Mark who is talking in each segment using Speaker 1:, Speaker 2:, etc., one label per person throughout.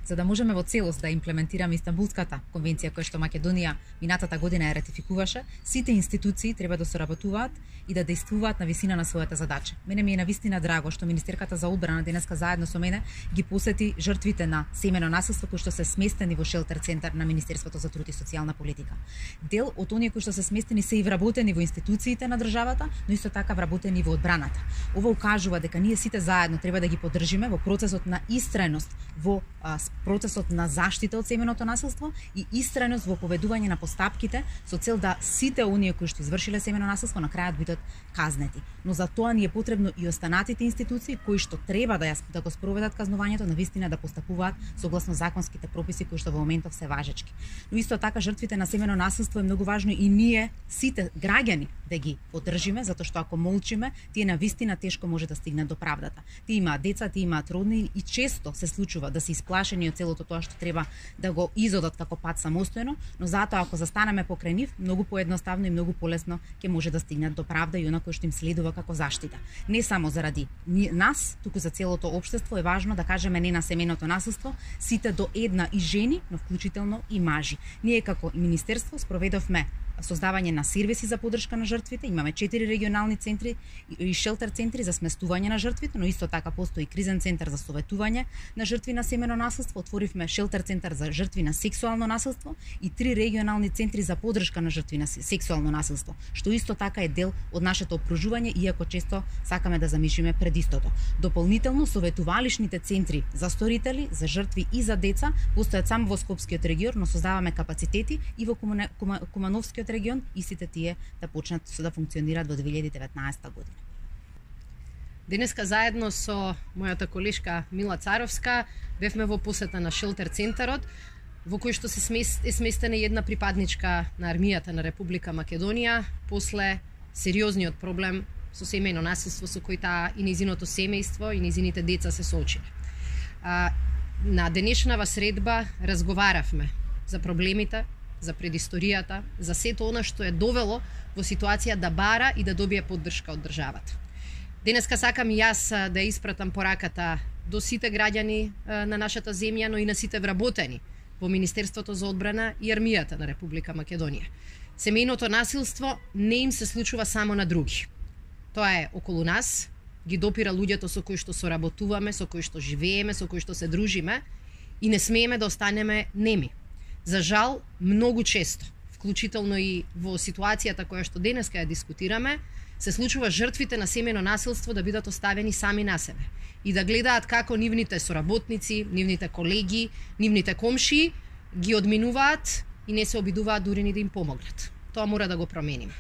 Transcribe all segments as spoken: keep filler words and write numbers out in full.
Speaker 1: За да можеме во целост да имплементираме Истанбулската конвенција која што Македонија минатата година ја ратификуваше, сите институции треба да соработуваат и да действуваат на висина на својата задача. Мене ми е навистина драго што Министерката за одбрана денеска заедно со мене ги посети жртвите на семено насилство кои што се сместени во шелтер центар на Министерството за труд и социјална политика. Дел од оние кои што се сместени се и вработени во институциите на државата, но исто така вработени во одбраната. Ова укажува дека ние сите заедно треба да ги поддржиме во процесот на истрајност во а, процесот на заштита од семеното насилство и истрајност во поведување на постапките со цел да сите оние кои што извршиле семено насилство на крајот бидат казнети. Но за тоа ни е потребно и останатите институции кои што треба да ја да го спроведат казнувањето на вистина да постапуваат согласно законските прописи кои што во моментов се важечки. Но исто така жртвите на семено насилство е многу важно и ние сите граѓани да ги поддржиме, затоа што ако молчиме, тие на вистина тешко може да стигнат до правдата. Тие имаат деца, тие имаат роднини и често се случува да се исплашени од целото тоа што треба да го изодат како пат самостојно, но затоа ако застанеме покрај нив, многу поедноставно и многу полесно ќе може да стигнат до правда и она кој што им следува како заштита. Не само заради нас, туку за целото општество е важно да кажеме не на семеното насилство, сите до една и жени, но вклучително и мажи. Ние како министерство спроведовме создавање на сервиси за поддршка на жртвите. Имаме четири регионални центри и шелтер центри за сместување на жртвите, но исто така постои кризен центар за советување на жртви на семено насилство. Отворивме шелтер центар за жртви на сексуално насилство и три регионални центри за поддршка на жртви на сексуално насилство, што исто така е дел од нашето опружување, иако често сакаме да замишиме пред истото. Дополнително, советувалишните центри за сторители, за жртви и за деца постојат само во Скопскиот регион, но создаваме капацитети и во Кумановскиот регион и сите тие да почнат да функционираат во две илјади и деветнаесетта година.
Speaker 2: Денеска заедно со мојата колешка Мила Царовска бевме во посета на шелтер центарот, во кој што се е сместена една припадничка на армијата на Република Македонија после сериозниот проблем со семејно насилство со кој таа и нејзиното семејство и нејзините деца се соочиле. На денешнава средба разговаравме за проблемите, за предисторијата, за сето она што е довело во ситуација да бара и да добие поддршка од државата. Денеска сакам и јас да испратам пораката до сите граѓани на нашата земја, но и на сите вработени во Министерството за одбрана и армијата на Република Македонија. Семејното насилство не им се случува само на други. Тоа е околу нас, ги допира луѓето со кои што соработуваме, со кои што живееме, со кои што се дружиме и не смееме да останеме неми. За жал, многу често, вклучително и во ситуацијата која што денеска ја дискутираме, се случува жртвите на семено насилство да бидат оставени сами на себе и да гледаат како нивните соработници, нивните колеги, нивните комшии ги одминуваат и не се обидуваат дури ни да им помогнат. Тоа мора да го промениме.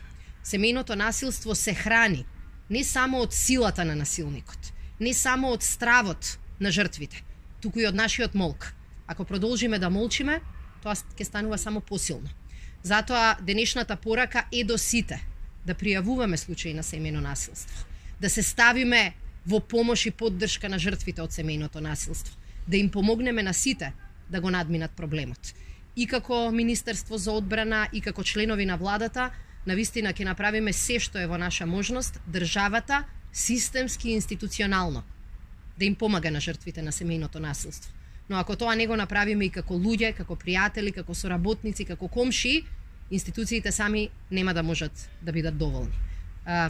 Speaker 2: Семејното насилство се храни не само од силата на насилникот, не само од стравот на жртвите, туку и од нашиот молк. Ако продолжиме да молчиме, тоа ќе станува само посилно. Затоа денешната порака е до сите да пријавуваме случаи на семејно насилство, да се ставиме во помош и поддршка на жртвите од семејното насилство, да им помогнеме на сите да го надминат проблемот. И како Министерство за одбрана и како членови на владата, навистина ќе направиме се што е во наша можност државата системски и институционално да им помага на жртвите на семејното насилство. Но ако тоа не го направиме и како луѓе, како пријатели, како соработници, како комшии, институциите сами нема да можат да бидат доволни.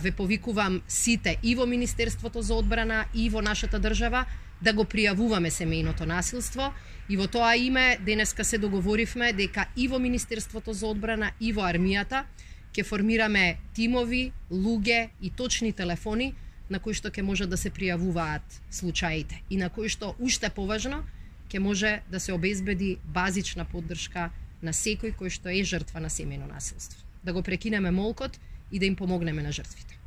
Speaker 2: Ве повикувам сите и во Министерството за одбрана и во нашата држава да го пријавуваме семејното насилство и во тоа име денеска се договоривме дека и во Министерството за одбрана и во армијата ќе формираме тимови, луѓе и точни телефони на кои што ќе можат да се пријавуваат случаите и на кои што уште поважно ќе може да се обезбеди базична поддршка на секој кој што е жртва на семејно насилство. Да го прекинеме молкот и да им помогнеме на жртвите.